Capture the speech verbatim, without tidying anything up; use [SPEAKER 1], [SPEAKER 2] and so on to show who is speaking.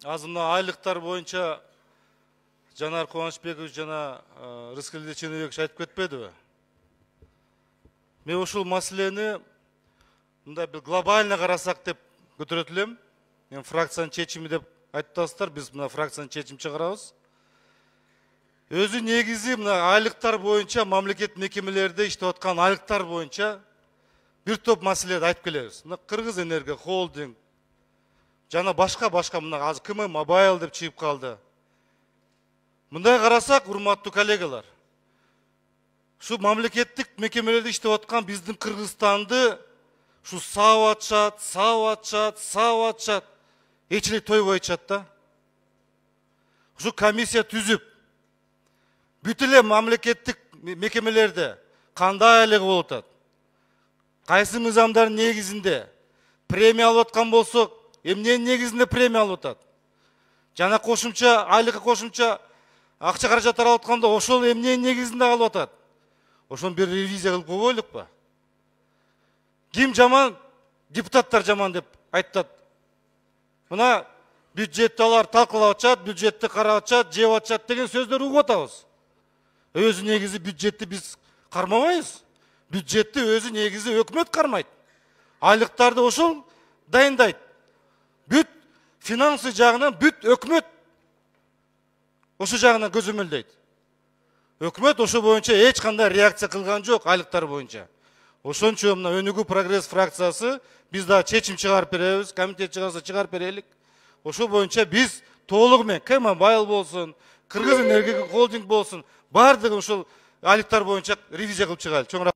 [SPEAKER 1] азыр мына айлыктар боюнча Жанар Кубанычбекович жана Рыскелди Ченебекович айтып кетпедиби? Мен ушул маселени мындай бир глобально карасак деп көтөрөт элем. Мен фракциянын чечими деп айтып атасыздар, биз мына фракциянын чечим чыгарабыз. Өзү негизи мына айлыктар боюнча мамлекет мекемелерде иштеп аткан айлыктар боюнча бир топ маселелерди айтып келебиз. Мына Кыргыз Энерго холдинг жана башка башка мына азыр КМ Мобайл деп чыгып калды. Мындай карасак, урматтуу коллегалар, ушу мамлекеттик мекемелерде иштеп аткан биздин Кыргызстанды ушу саап атышат, саап атышат, саап атышат, эч эле тойбой атышат да. Ушу комиссия түзүп, бүт эле мамлекеттик мекемелерде кандай айлыгы болуп атат, кайсы мыйзамдардын негизинде премия алып аткан болсок, эмненин негизинде премия алып атат, жана кошумча айлыкка кошумча акча каражаттар алып атканда ошол эмненин негизинде алып атат. Ошону бир ревизия кылып койбойлукпу? Ким жаман? Депутаттар жаман деп айтат. Мына бюджетти алар талкуулап атышат, бюджетти карап атышат, жеп атышат деген сөздөрдү угуп атабыз. Өзү негизи бюджетти биз кармабайбыз. Бюджетти өзү негизи өкмөт кармайт. Айлыктарды ошол дайындайт. Бүт финансы жагынан бүт өкмөт ошо жагынан көзөмөлдөйт. Өкмөт ошо боюнча эч кандай реакция кылган жок айлыктар боюнча. Ошон үчүн мына Өнүгүү прогресс фракциясы биз да чечим чыгарып беребиз, комитет чыгарса чыгарып берелик. Ошо боюнча биз толугу менен КМ Мобайл болсун, Кыргыз Энерго холдинг болсун, бардыгы ошол айлыктар боюнча ревизия кылып чыгайлы.